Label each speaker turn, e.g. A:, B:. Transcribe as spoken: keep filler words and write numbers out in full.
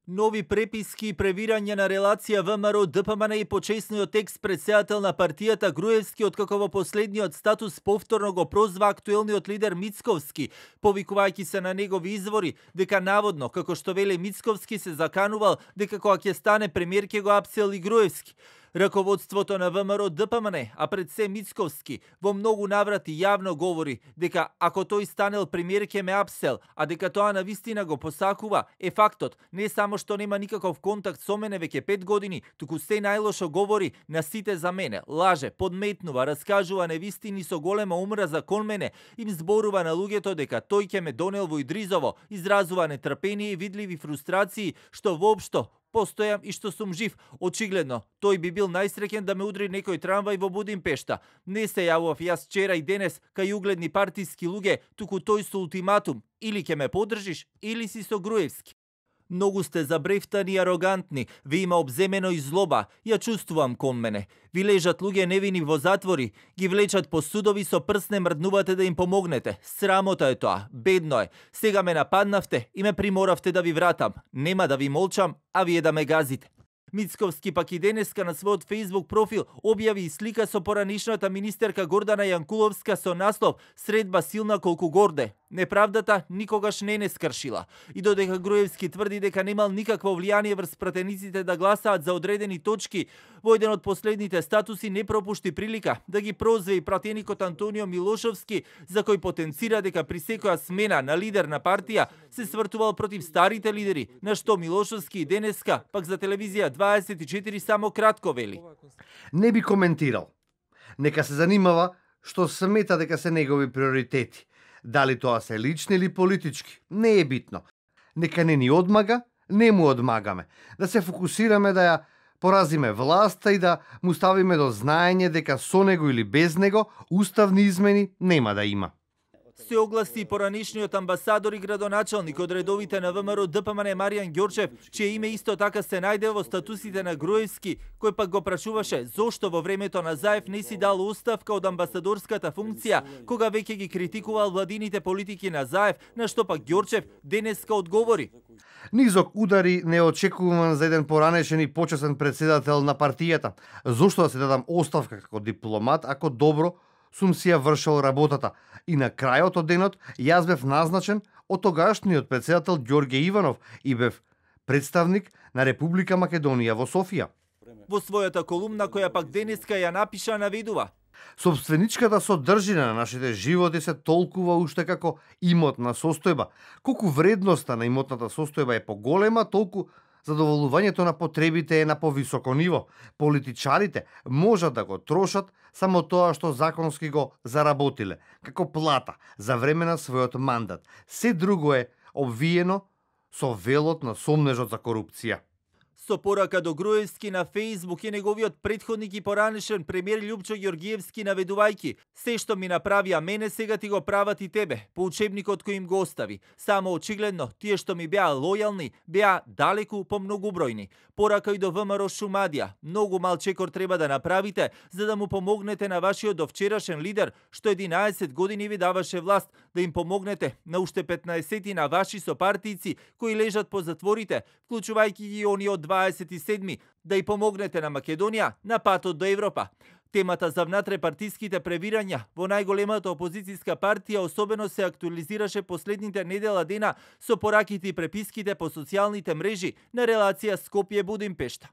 A: Нови преписки и превирање на релација ВМРО-Д П М Н и почесниот екс-претседател на партијата Груевски, откако во последниот статус повторно го прозваа актуелниот лидер Мицковски, повикувајќи се на негови извори дека наводно, како што веле Мицковски, се заканувал дека кога ќе стане премиер ќе го апсел и Груевски. Раководството на ВМРО-Д П М Н, а пред се Мицковски, во многу наврати јавно говори дека ако тој станел премиер ќе ме апсел, а дека тоа навистина го посакува, е фактот не само што нема никаков контакт со мене веќе пет години, туку се најлошо говори на сите за мене, лаже, подметнува, раскажува невистини со голема омраза кон мене, им зборува на луѓето дека тој ќе ме донел во Идризово, изразува нетрпение и видливи фрустрации што воопшто постојам и што сум жив. Очигледно, тој би бил најсреќен да ме удри некој трамвај во Будимпешта. Не се јавував јас вчера и денес кај угледни партиски луѓе, туку тој со ултиматум: или ќе ме поддржиш, или си со Груевски. Многу сте забрефтани и арогантни, ви има обземено и злоба, ја чувствувам кон мене. Ви лежат луѓе невини во затвори, ги влечат по судови, со прст не мрднувате да им помогнете. Срамота е тоа, бедно е. Сега ме нападнавте и ме приморавте да ви вратам. Нема да ви молчам, а вие да ме газите. Мицковски пак и денеска на својот Facebook профил објави и слика со поранишната министерка Гордана Јанкуловска со наслов "Средба силна колку горде". Неправдата никогаш не не скршила. И додека Груевски тврди дека немал никакво влијание врз пратениците да гласаат за одредени точки, во еден од последните статуси не пропушти прилика да ги прозве и пратеникот Антонио Милошовски, за кој потенцира дека при секоја смена на лидер на партија се свртувал против старите лидери, на што Милошовски и денеска пак за телевизија дваесет и четири само кратко вели:
B: "Не би коментирал. Нека се занимава што смета дека се негови приоритети. Дали тоа се лични или политички, не е битно. Нека не ни одмага, не му одмагаме. Да се фокусираме да ја поразиме власта и да му ставиме до знаење дека со него или без него уставни измени нема да има."
A: Се огласи и поранишниот амбасадор и градоначалник од редовите на ВМРО-Д П М Н Маријан Ѓорчев, чие име исто така се најде во статусите на Груевски, кој пак го прашуваше зошто во времето на Заев не си дал оставка од амбасадорската функција, кога веќе ги критикувал владините политики на Заев, на што пак Ѓорчев денеска одговори:
B: "Низок удари не очекувам за еден поранешен и почесен претседател на партијата. Зошто да се дадам оставка како дипломат, ако добро сум си ја вршил работата. И на крајот од денот јас бев назначен од тогашниот претседател Ѓорѓе Иванов и бев представник на Република Македонија во Софија."
A: Во својата колумна, која пак денеска ја напиша, наведува:
B: "Собственичката содржина на нашите животи се толкува уште како имотна состојба. Колку вредноста на имотната состојба е поголема, толку задоволувањето на потребите е на повисоко ниво. Политичарите можат да го трошат само тоа што законски го заработиле, како плата за време на својот мандат. Се друго е обвиено со велот на сомнежот за корупција."
A: Со порака до Груевски на Фејсбук и неговиот претходник и поранешен премиер Љупчо Ѓоргиевски наведувајќи: "Се што ми направија мене, сега ти го прават и тебе, по учебникот кој им го остави. Само очигледно, тие што ми беа лојални, беа далеку помногубројни." Порака и до ВМРО Шумадија: "Многу мал чекор треба да направите за да му помогнете на вашиот довчерашен лидер, што единаесет години ви даваше власт, да им помогнете на уште петнаесет на ваши сопартијци кои лежат по затворите, вклучувајќи ги они од дваесет и седми, да и помогнете на Македонија на патот до Европа." Темата за внатре-партиските превирања во најголемата опозицијска партија особено се актуализираше последните недела дена со пораките и преписките по социјалните мрежи на релација Скопје-Будимпешта.